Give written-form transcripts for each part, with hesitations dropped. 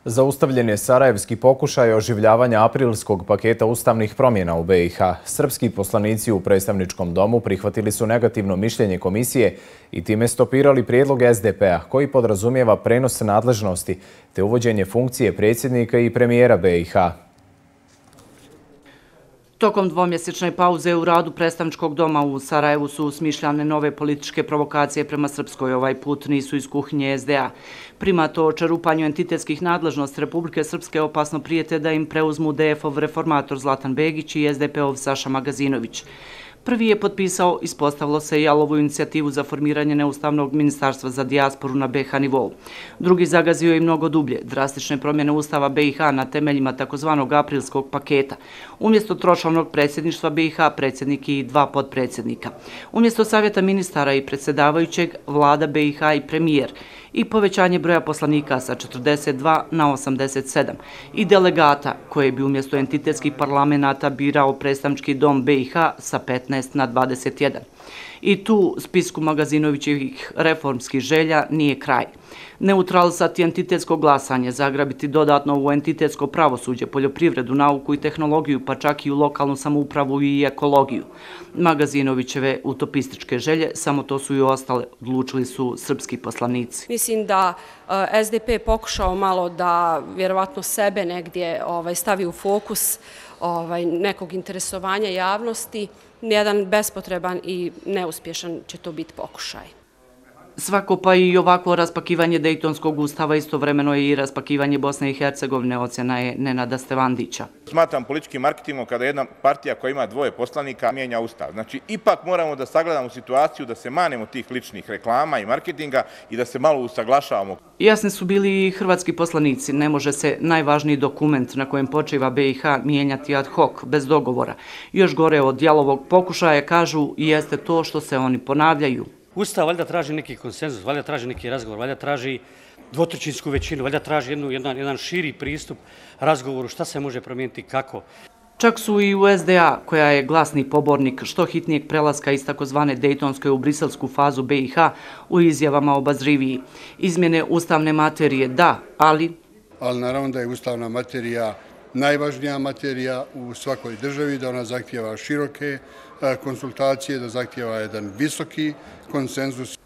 Zaustavljen je sarajevski pokušaj oživljavanja aprilskog paketa ustavnih promjena u BiH. Srpski poslanici u predstavničkom domu prihvatili su negativno mišljenje komisije i time stopirali prijedlog SDP-a koji podrazumijeva prenos nadležnosti te uvođenje funkcije predsjednika i premijera BiH. Tokom dvomjesečne pauze u radu predstavničkog doma u Sarajevu su smišljane nove političke provokacije prema Srpskoj. Ovaj put nisu iz kuhinje SDA. Primat o čerupanju entitetskih nadležnosti Republike Srpske opasno prijete da im preuzmu DF-ov reformator Zlatan Begić i SDP-ov Saša Magazinović. Prvi je potpisao, ispostavilo se, jalovu inicijativu za formiranje neustavnog ministarstva za dijasporu na BiH nivou. Drugi zagazio i mnogo dublje, drastične promjene Ustava BiH na temeljima takozvanog aprilskog paketa. Umjesto tročlanog predsjedništva BiH, predsjednik i dva potpredsjednika. Umjesto savjeta ministara i predsjedavajućeg, vlada BiH i premijer. I povećanje broja poslanika sa 42 na 87 i delegata koje bi umjesto entitetskih parlamenata birao predstavnički dom BiH sa 15 na 21. I tu spisku Magazinovićevih reformskih želja nije kraj. Neutralisati entitetsko glasanje, zagrabiti dodatno u entitetsko pravosuđe, poljoprivredu, nauku i tehnologiju, pa čak i u lokalnu samoupravu i ekologiju. Magazinovićeve utopističke želje, samo to su i ostale, odlučili su srpski poslanici. Mislim da SDP pokušao malo da vjerovatno sebe negdje stavi u fokus nekog interesovanja javnosti. Jedan bespotreban i neuspješan će to biti pokušaj. Svako pa i ovakvo raspakivanje Dejtonskog ustava istovremeno je i raspakivanje Bosne i Hercegovine, ocjena je Nenada Stevandića. Smatram političkim marketingom kada jedna partija koja ima dvoje poslanika mijenja ustav. Znači, ipak moramo da sagledamo situaciju da se manemo tih ličnih reklama i marketinga i da se malo usaglašavamo. Jasni su bili i hrvatski poslanici. Ne može se najvažniji dokument na kojem počiva BiH mijenjati ad hoc, bez dogovora. Još gore od jalovog pokušaja, kažu, jeste to što se oni ponavljaju. Ustav valjda traži neki konsenzus, valjda traži neki razgovor, valjda traži dvotrećinsku većinu, valjda traži jedan širi pristup razgovoru šta se može promijeniti, kako. Čak su i u SDA, koja je glasni pobornik što hitnijeg prelaska iz takozvane Dejtonske u briselsku fazu BiH, u izjavama obazriviji. Izmjene ustavne materije da, ali naravno da je ustavna materija najvažnija materija u svakoj državi, da ona zahtijeva široke konsultacije, da zahtijeva jedan visoki konsenzus.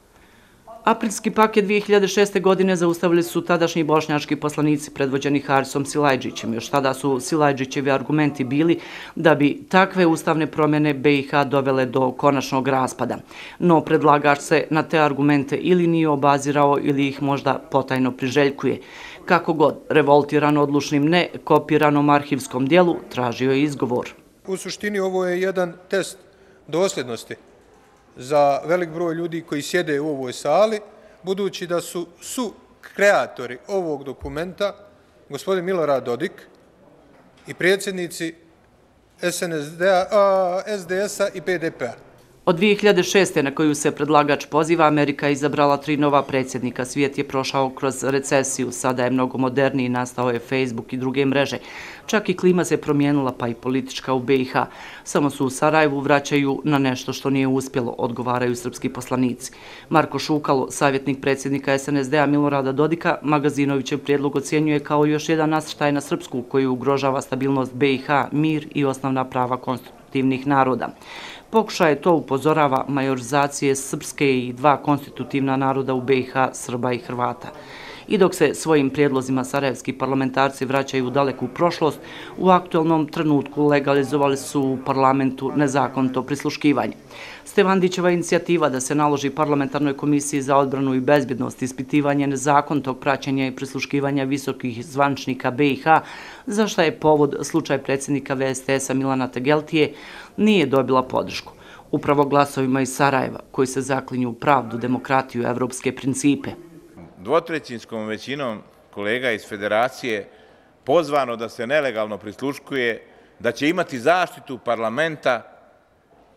Aprilski paket 2006. godine zaustavili su tadašnji bošnjački poslanici predvođeni Harisom Silajdžićem. Još tada su Silajdžićevi argumenti bili da bi takve ustavne promjene BiH dovele do konačnog raspada. No predlagač se na te argumente ili nije obazirao ili ih možda potajno priželjkuje. Kako god, revoltiran odlučnim ne kopiranom arhivskom dijelu, tražio je izgovor. U suštini ovo je jedan test dosljednosti za velik broj ljudi koji sjede u ovoj sali, budući da su kreatori ovog dokumenta gospodin Milorad Dodik i predsjednici SDS-a i PDP-a. Od 2006. na koju se predlagač poziva, Amerika je izabrala 3 nova predsjednika. Svijet je prošao kroz recesiju, sada je mnogo moderniji, nastao je Facebook i druge mreže. Čak i klima se promijenila, pa i politička u BiH. Samo su u Sarajevu vraćaju na nešto što nije uspjelo, odgovaraju srpski poslanici. Marko Šukalo, savjetnik predsjednika SNSD-a Milorada Dodika, Magazinovićev prijedlog ocjenjuje kao još jedan nasrtaj na Srpsku koji ugrožava stabilnost BiH, mir i osnovna prava konstitutivnih naroda. Pokušaj to upozorava majorizacije srpske i 2 konstitutivna naroda u BiH, Srba i Hrvata. I dok se svojim prijedlozima sarajevski parlamentarci vraćaju u daleku prošlost, u aktualnom trenutku legalizovali su u parlamentu nezakonito prisluškivanje. Stevandićeva inicijativa da se naloži parlamentarnoj komisiji za odbranu i bezbjednost ispitivanje nezakonitog praćenja i prisluškivanja visokih zvančnika BiH, za šta je povod slučaj predsjednika VSTS-a Milana Tegeltije, nije dobila podršku. Upravo glasovima iz Sarajeva, koji se zaklinju u pravdu, demokratiju i evropske principe. Dvotrećinskom većinom kolega iz federacije pozvano da se nelegalno prisluškuje, da će imati zaštitu parlamenta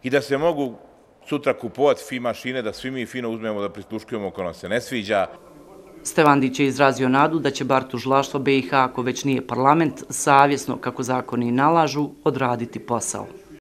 i da se mogu sutra kupovati fi mašine, da svi mi fino uzmemo da prisluškujemo ako nam se ne sviđa. Stevandić je izrazio nadu da će bar tužilaštvo BiH, ako već nije parlament, savjesno, kako zakoni nalažu, odraditi posao.